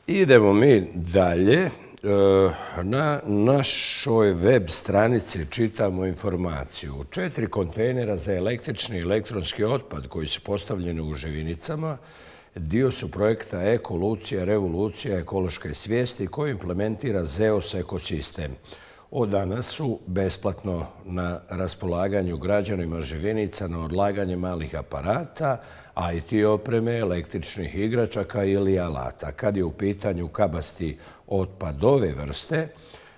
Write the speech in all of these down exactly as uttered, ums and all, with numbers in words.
Idemo mi dalje. Na našoj web stranici čitamo informaciju. Četiri kontejnera za električni i elektronski otpad koji su postavljeni u Živinicama dio su projekta Ekolucija, revolucija ekološke svijesti koji implementira ZEOS ekosistem. Od danas su besplatno na raspolaganju građanima Živinica na odlaganje malih aparata, I T opreme, električnih igračaka ili alata. Kad je u pitanju kabasti otpad ove vrste,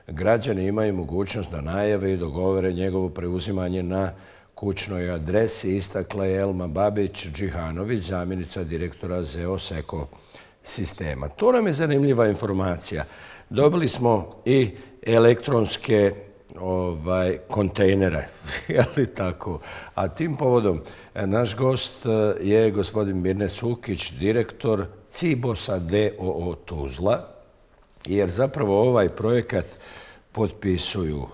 građani imaju mogućnost da najave i dogovore njegovo preuzimanje na kućnoj adresi, istakla je Elma Babić-Džihanović, zamjenica direktora ZEOS ekosistema. To nam je zanimljiva informacija. Dobili smo i elektronske ovaj, kontejnere, je li tako? A tim povodom naš gost je gospodin Mirne Sukić, direktor Cibosa d o o Tuzla, jer zapravo ovaj projekat potpisuju,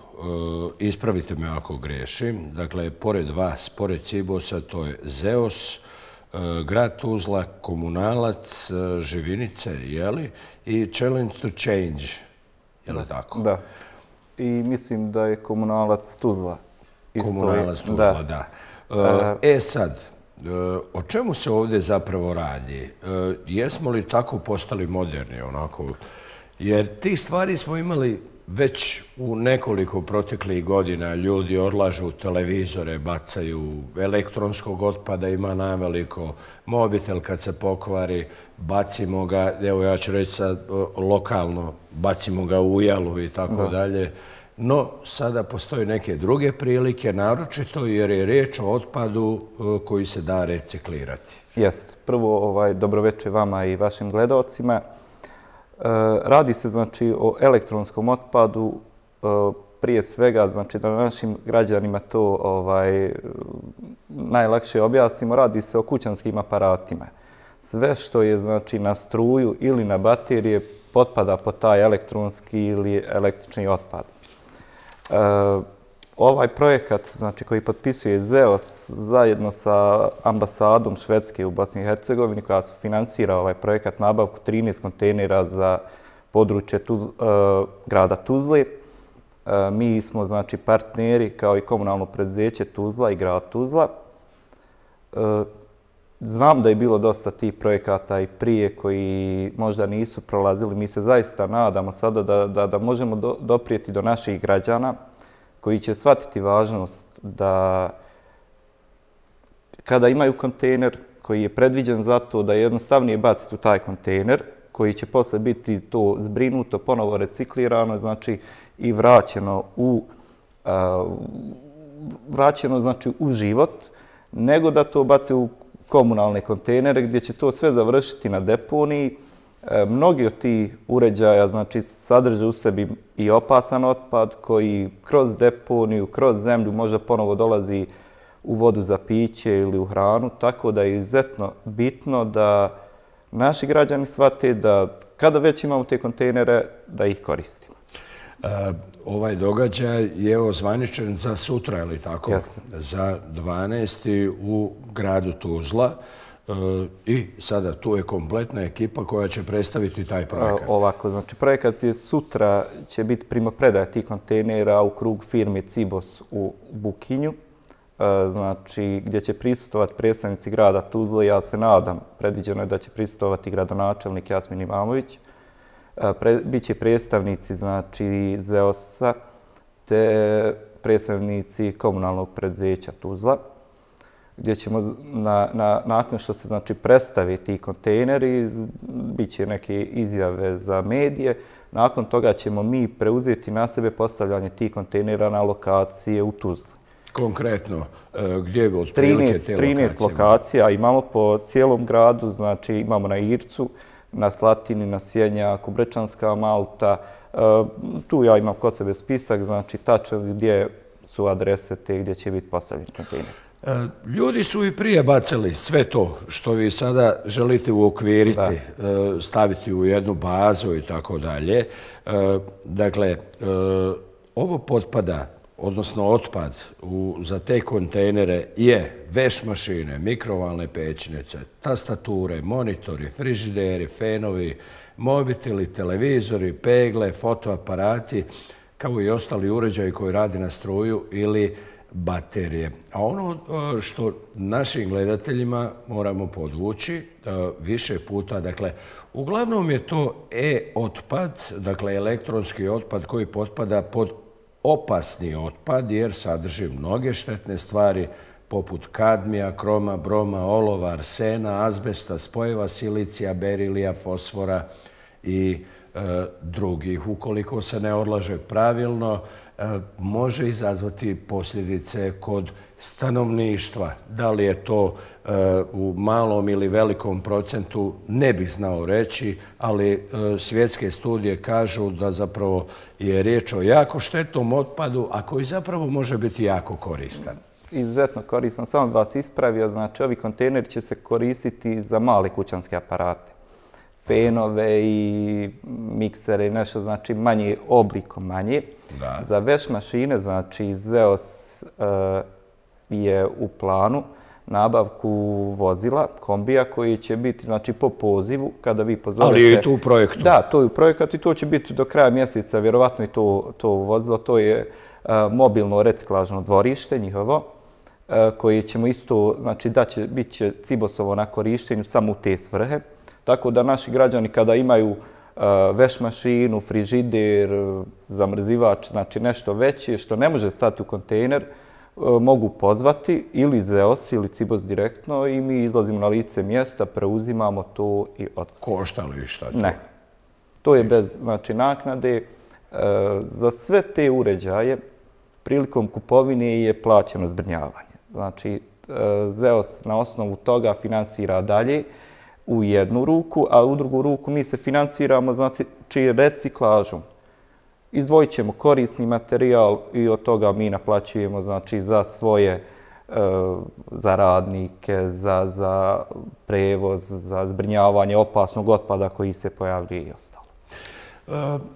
ispravite me ako grešim, dakle, pored vas, pored Cibosa, to je ZEOS, grad Tuzla, Komunalac, Živinice, je li? I Challenge to Change, je li tako? Da. I mislim da je Komunalac Tuzla. Komunalac Tuzla, da. E sad, o čemu se ovdje zapravo radi? Jesmo li tako postali moderni onako? Jer tih stvari smo imali već u nekoliko proteklih godina. Ljudi odlažu televizore, bacaju elektronskog otpada, ima naveliko mobitel kad se pokvari, bacimo ga, evo ja ću reći sad lokalno, bacimo ga u ujalu i tako dalje. No, sada postoje neke druge prilike, naročito jer je riječ o otpadu koji se da reciklirati. Jest. Prvo, ovaj, dobroveče vama i vašim gledalcima. Radi se znači o elektronskom otpadu, prije svega znači da našim građanima to ovaj, najlakše objasnimo, radi se o kućanskim aparatima. Sve što je znači na struju ili na baterije potpada pod taj elektronski ili električni otpad. E, ovaj projekat znači, koji potpisuje ZEOS zajedno sa ambasadom Švedske u Bosni i Hercegovini koja se finansira ovaj projekat nabavku trinaest kontejnera za područje Tuz, e, grada Tuzle. E, mi smo znači partneri kao i komunalno preduzeće Tuzla i grad Tuzla. E, Znam da je bilo dosta tih projekata i prije koji možda nisu prolazili. Mi se zaista nadamo sada da, da, da možemo do, doprijeti do naših građana koji će shvatiti važnost da kada imaju kontejner koji je predviđen za to da je jednostavnije baciti u taj kontejner koji će posle biti to zbrinuto, ponovo reciklirano, znači i vraćeno u, uh, vraćeno, znači, u život, nego da to bace u komunalne kontejnere gdje će to sve završiti na deponiji. E, mnogi od tih uređaja znači, sadrže u sebi i opasan otpad koji kroz deponiju, kroz zemlju možda ponovo dolazi u vodu za piće ili u hranu, tako da je izuzetno bitno da naši građani shvate da kada već imamo te kontejnere, da ih koristimo. E, ovaj događaj je ozvaničen za sutra, je li tako? Jasno. Za dvanaesti u gradu Tuzla. E, I sada tu je kompletna ekipa koja će predstaviti taj projekat. E, ovako, znači projekat je sutra će biti primopredaja tih kontejnera u krug firme Cibos u Bukinju. E, znači, gdje će prisustovati predstavnici grada Tuzla. Ja se nadam, predviđeno je da će prisustovati gradonačelnik Jasmin Imamović. Pre, biće predstavnici znači ZEOS-a te predstavnici komunalnog preduzeća Tuzla, gdje ćemo na, na, nakon što se znači predstavi ti kontejneri, bit će neke izjave za medije, nakon toga ćemo mi preuzeti na sebe postavljanje tih kontejnera na lokacije u Tuzli. Konkretno, gdje je otprilike te lokacije? trinaest lokacija imamo po cijelom gradu, znači imamo na Ircu, na Slatini, na Sjenjaku, Brečanska Malta. E, tu ja imam kod sebe spisak, znači tačno gdje su adrese te gdje će biti postavljeni kontejner. E, ljudi su i prije bacali sve to što vi sada želite uokviriti, e, staviti u jednu bazu i tako dalje. E, dakle, e, ovo potpada, odnosno otpad u, za te kontejnere je veš mašine, mikrovalne pećnice, tastature, monitori, frižideri, fenovi, mobiteli, televizori, pegle, fotoaparati, kao i ostali uređaji koji radi na struju ili baterije. A ono što našim gledateljima moramo podvući više puta, dakle, uglavnom je to e-otpad, dakle elektronski otpad koji potpada pod opasni otpad jer sadrži mnoge štetne stvari poput kadmija, kroma, broma, olova, arsena, azbesta, spojeva silicija, berilija, fosfora i e, drugih. Ukoliko se ne odlaže pravilno, e, može izazvati posljedice kod stanovništva. Da li je to e, u malom ili velikom procentu, ne bih znao reći, ali e, svjetske studije kažu da zapravo je riječ o jako štetnom otpadu, a koji zapravo može biti jako koristan. Izuzetno koristan. Samo bih vas ispravio, znači ovi kontejneri će se koristiti za male kućanske aparate. Fenove i miksere i nešto, znači manji oblikom manje. Da. Za veš mašine, znači Zeos uh, je u planu nabavku vozila, kombija koji će biti znači po pozivu kada vi pozovete. Ali je to u projektu? Da, to je u projektu i to će biti do kraja mjeseca, vjerovatno i to, to vozilo. To je uh, mobilno reciklažno dvorište njihovo, uh, koje ćemo isto, znači da će, bit će Cibosovo na korištenju samo u te svrhe. Tako da naši građani kada imaju uh, veš mašinu, frižider, zamrzivač, znači nešto veće što ne može stati u kontejner, uh, mogu pozvati ili Zeos ili Cibos direktno i mi izlazimo na lice mjesta, preuzimamo to i odvozimo. Košta li šta to? Ne. To je bez znači, naknade. Uh, za sve te uređaje prilikom kupovine je plaćeno zbrinjavanje. Znači, uh, Zeos na osnovu toga finansira dalje u jednu ruku, a u drugu ruku mi se finansiramo znači reciklažom. Izdvojit ćemo korisni materijal i od toga mi naplaćujemo znači za svoje, za radnike, za, za prevoz, za zbrinjavanje opasnog otpada koji se pojavljuje i ostalo.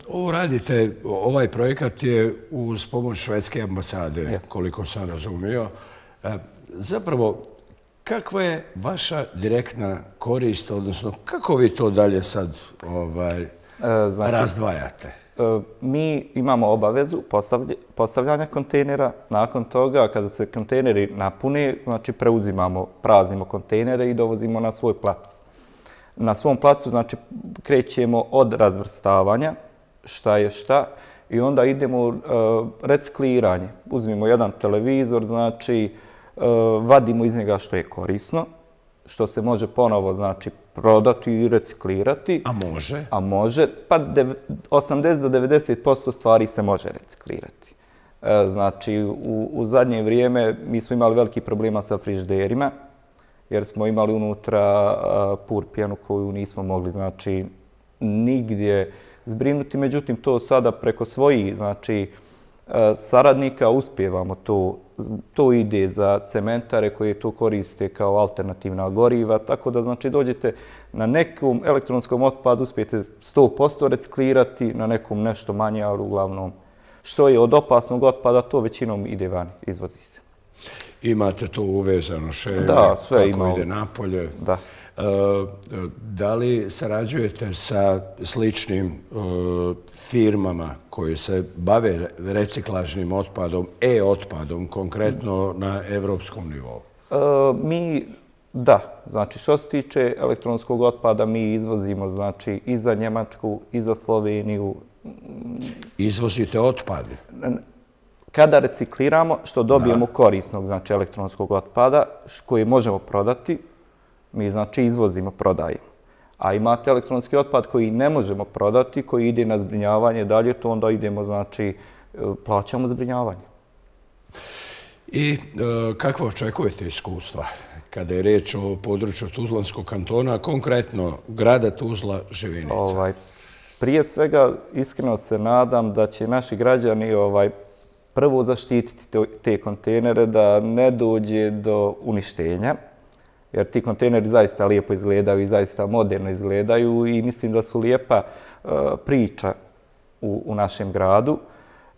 Ovo radite, ovaj projekat je uz pomoć švedske ambasade, yes. koliko sam razumio. Zapravo, kakva je vaša direktna korist, odnosno kako vi to dalje sad ovaj, e, znači, razdvajate? E, mi imamo obavezu postavljanja kontejnera. Nakon toga, kada se kontejneri napune, znači preuzimamo, praznimo kontejnere i dovozimo na svoj plac. Na svom placu znači, krećemo od razvrstavanja, šta je šta, i onda idemo u e, recikliranje. Uzmimo jedan televizor, znači, vadimo iz njega što je korisno, što se može ponovo znači, prodati i reciklirati. A može? A može, pa osamdeset do devedeset posto stvari se može reciklirati. Znači, u, u zadnje vrijeme mi smo imali veliki problema sa frižiderima, jer smo imali unutra purpijanu koju nismo mogli znači, nigdje zbrinuti. Međutim, to sada preko svojih znači, saradnika uspijevamo to. To ide za cementare koje to koriste kao alternativna goriva, tako da znači dođete na nekom elektronskom otpadu, uspijete sto posto reciklirati, na nekom nešto manje, ali uglavnom što je od opasnog otpada, to većinom ide van, izvozi se. Imate to uvezano šeme, da, sve kako ima. Ide napolje. Da. E, da li sarađujete sa sličnim e, firmama koje se bave reciklažnim otpadom, e-otpadom, konkretno na evropskom nivou? E, mi, da. Znači, što se tiče elektronskog otpada, mi izvozimo znači, i za Njemačku, i za Sloveniju. Izvozite otpad? Kada recikliramo, što dobijemo da. korisnog znači, elektronskog otpada, koji možemo prodati, mi znači izvozimo, prodajemo. A imate elektronski otpad koji ne možemo prodati, koji ide na zbrinjavanje dalje, to onda idemo, znači, plaćamo zbrinjavanje. I e, kakvo očekujete iskustva kada je riječ o području Tuzlanskog kantona, a konkretno grada Tuzla, Živinica? Ovaj, prije svega, iskreno se nadam da će naši građani ovaj, prvo zaštititi te, te kontejnere, da ne dođe do uništenja. Jer ti kontejneri zaista lijepo izgledaju i zaista moderno izgledaju i mislim da su lijepa uh, priča u, u našem gradu.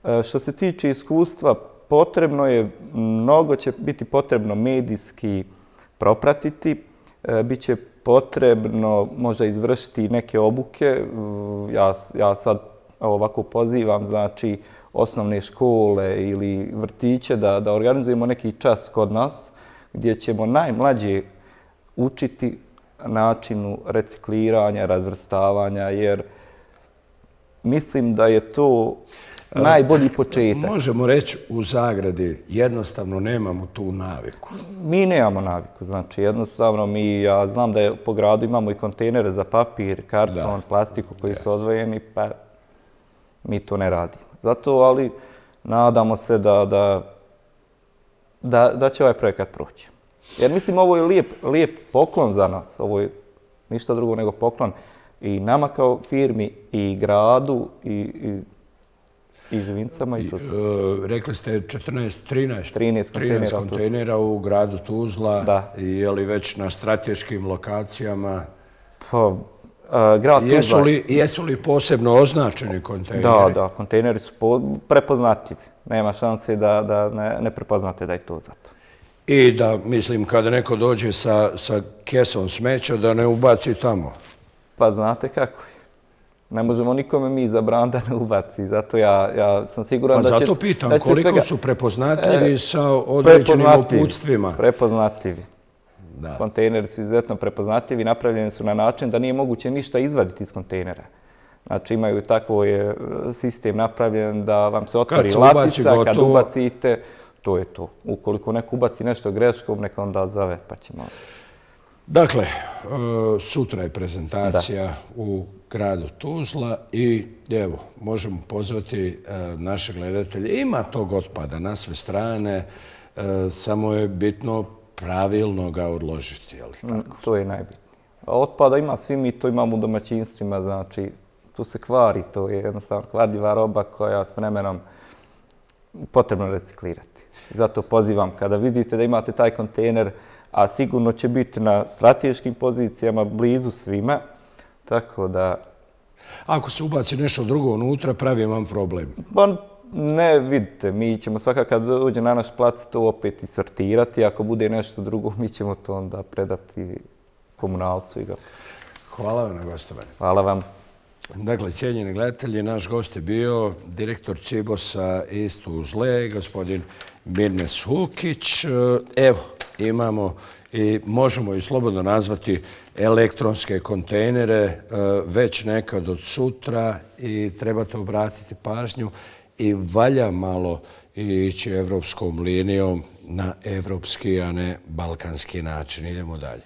Uh, što se tiče iskustva, potrebno je, mnogo će biti potrebno medijski propratiti. Uh, Biće potrebno možda izvršiti neke obuke. Ja, ja sad ovako pozivam, znači, osnovne škole ili vrtiće da, da organizujemo neki čas kod nas gdje ćemo najmlađe učiti načinu recikliranja, razvrstavanja, jer mislim da je to najbolji početak. Možemo reći u zagradi, jednostavno nemamo tu naviku. Mi nemamo naviku, znači jednostavno mi, ja znam da je po gradu imamo i kontejnere za papir, karton, plastiku koji su odvojeni, pa mi to ne radimo. Zato, ali nadamo se da, da, da, da će ovaj projekat proći. Jer mislim, ovo je lijep, lijep poklon za nas, ovo je ništa drugo nego poklon i nama kao firmi, i gradu, i, i i Živincama i to se. Rekli ste četrnaest, trinaest, trinaest kontejnera, kontejnera u gradu Tuzla. Da. I je li već na strateškim lokacijama? Pa, a, grad Tuzla... Jesu li, jesu li posebno označeni kontejneri? Da, da, kontejneri su po, prepoznatljivi. Nema šanse da, da ne, ne prepoznate da je to zato. I da, mislim, kada neko dođe sa, sa kesom smeća, da ne ubaci tamo? Pa znate kako je. Ne možemo nikome mi zabraniti da ne ubaci. Zato ja, ja sam siguran pa da će... Pa zato pitam, da će koliko svega, su prepoznatljivi e, sa određenim uputstvima? Prepoznatljivi. Da. Kontejneri su izuzetno prepoznatljivi, napravljeni su na način da nije moguće ništa izvaditi iz kontejnera. Znači imaju tako je sistem napravljen da vam se otvori latica, kad ubacite, to je to. Ukoliko neko ubaci nešto greškom, neka onda zove, pa ćemo... Dakle, sutra je prezentacija u gradu Tuzla i evo, možemo pozvati naše gledatelje. Ima tog otpada na sve strane, samo je bitno pravilno ga odložiti, je li tako? To je najbitnije. A otpada ima, svi mi to imamo u domaćinstvima, znači tu se kvari, to je jednostavno kvarljiva roba koja s vremenom potrebno reciklirati. Zato pozivam, kada vidite da imate taj kontejner, a sigurno će biti na strateškim pozicijama, blizu svima, tako da... Ako se ubaci nešto drugo unutra, pravi vam problem? Pa ne, vidite, mi ćemo svakako kad dođe na naš plac to opet i sortirati, ako bude nešto drugo, mi ćemo to onda predati komunalcu i ga... Hvala vam na gostovanju. Hvala vam. Dakle, cijenjeni gledatelji, naš gost je bio direktor Cibosa iz Tuzle, gospodin Mirnes Hukić. Evo, imamo i možemo i slobodno nazvati elektronske kontejnere već nekad od sutra i trebate obratiti pažnju i valja malo ići evropskom linijom na evropski, a ne balkanski način. Idemo dalje.